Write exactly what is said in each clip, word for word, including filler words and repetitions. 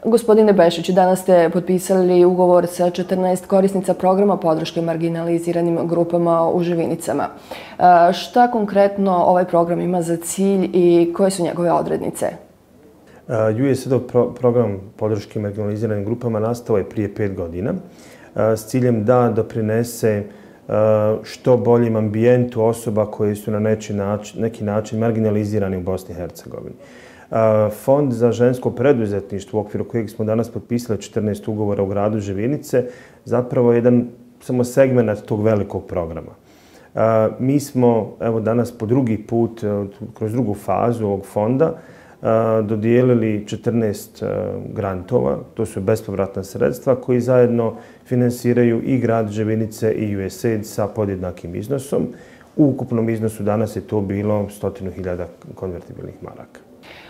Gospodine Bešić, danas ste potpisali ugovor sa četrnaest korisnica programa podrške marginaliziranim grupama u Živinicama. Šta konkretno ovaj program ima za cilj i koje su njegove odrednice? U S A I D-ov program podrške marginaliziranim grupama nastao je prije pet godina s ciljem da doprinese što boljem ambijentu osoba koje su na neki način marginalizirani u Bosni i Hercegovini. Fond za žensko preduzetništvo u okviru kojeg smo danas potpisali četrnaest ugovora u gradu Živinice zapravo je jedan samo segment tog velikog programa. Mi smo evo danas po drugi put, kroz drugu fazu ovog fonda, dodijelili četrnaest grantova, to su bespovratna sredstva koji zajedno finansiraju i grad Živinice i U S A I D sa podjednakim iznosom. U ukupnom iznosu danas je to bilo stotinu hiljada konvertibilnih maraka.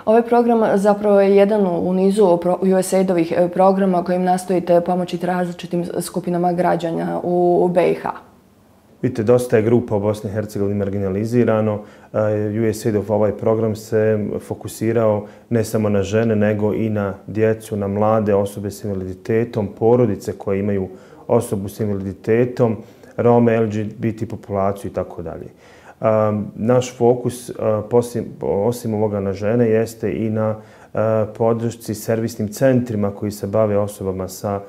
Ovaj program zapravo je jedan u nizu U S A I D-ovih programa kojim nastojite pomoći različitim skupinama građana u B i H. Vidite, dosta je grupa u Bosni i Hercegovini marginalizirano. U S A I D-ov ovaj program se fokusirao ne samo na žene, nego i na djecu, na mlade osobe s invaliditetom, porodice koje imaju osobu s invaliditetom, Rome, L G B T populaciju i tako dalje. Naš fokus, osim ovoga na žene, jeste i na podršci servisnim centrima koji se bave osobama sa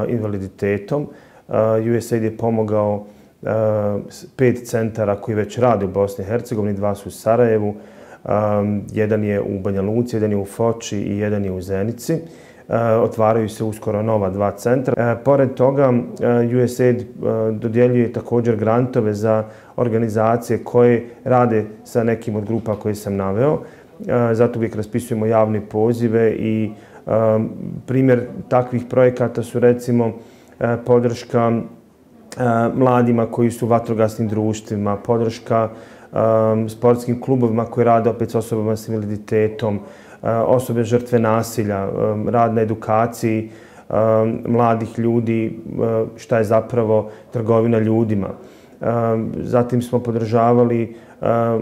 invaliditetom. U S A I D je pomogao pet centara koji već rade u Bosni i Hercegovini, dva su u Sarajevu, jedan je u Banja Luci, jedan je u Foči i jedan je u Zenici. Otvaraju se uskoro nova dva centra. Pored toga, U S A I D dodjeljuje također grantove za organizacije koje rade sa nekim od grupa koje sam naveo. Zato uvijek raspisujemo javne pozive i primjer takvih projekata su recimo podrška mladima koji su u vatrogasnim društvima, podrška sportskim klubovima koji rade opet s osobama s invaliditetom, osobe žrtve nasilja, rad na edukaciji mladih ljudi, šta je zapravo trgovina ljudima. Zatim smo podržavali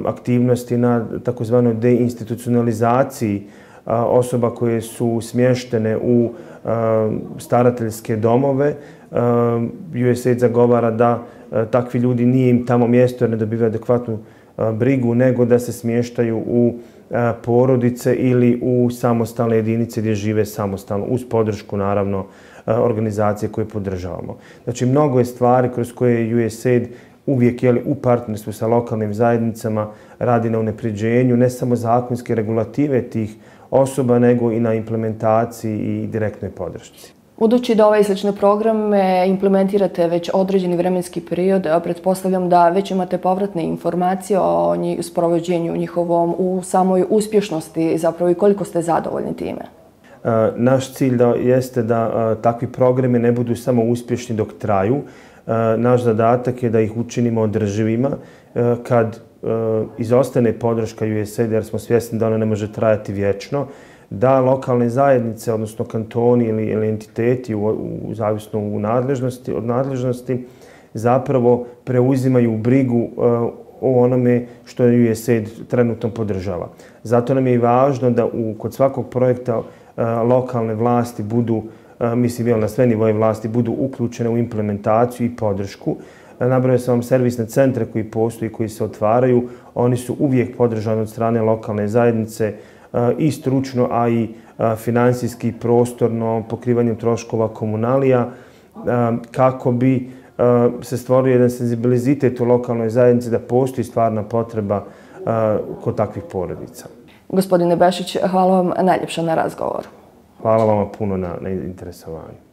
aktivnosti na takozvanoj deinstitucionalizaciji osoba koje su smještene u starateljske domove. U S A I D zagovara da takvi ljudi nije im tamo mjesto jer ne dobivaju adekvatnu brigu, nego da se smještaju u porodice ili u samostalne jedinice gdje žive samostalno, uz podršku naravno organizacije koje podržavamo. Znači, mnogo je stvari kroz koje U S A I D uvijek je u partnerstvu sa lokalnim zajednicama radi na unapređenju ne samo zakonske regulative tih osoba, nego i na implementaciji i direktnoj podršci. Budući da ovaj slične programe implementirate već određeni vremenski period, pretpostavljam da već imate povratne informacije o sprovođenju njihovom u samoj uspješnosti zapravo i koliko ste zadovoljni time. Naš cilj jeste da takvi programi ne budu samo uspješni dok traju. Naš zadatak je da ih učinimo održivima. Kad izostane podrška U S A I D, jer smo svjesni da ona ne može trajati vječno, da lokalne zajednice, odnosno kantoni ili entiteti, zavisno od nadležnosti, zapravo preuzimaju brigu o onome što U S A I D trenutno podržava. Zato nam je i važno da kod svakog projekta lokalne vlasti budu, mislim na sve nivoje vlasti, budu uključene u implementaciju i podršku. Nabrojao sam vam servisne centre koji postoji, koji se otvaraju. Oni su uvijek podržani od strane lokalne zajednice i stručno, a i finansijski, prostorno, pokrivanjem troškova komunalija, kako bi se stvorio jedan senzibilizitet u lokalnoj zajednici da postoji stvarna potreba kod takvih porodica. Gospodine Bešić, hvala vam najljepša na razgovoru. Hvala vama puno na interesovanju.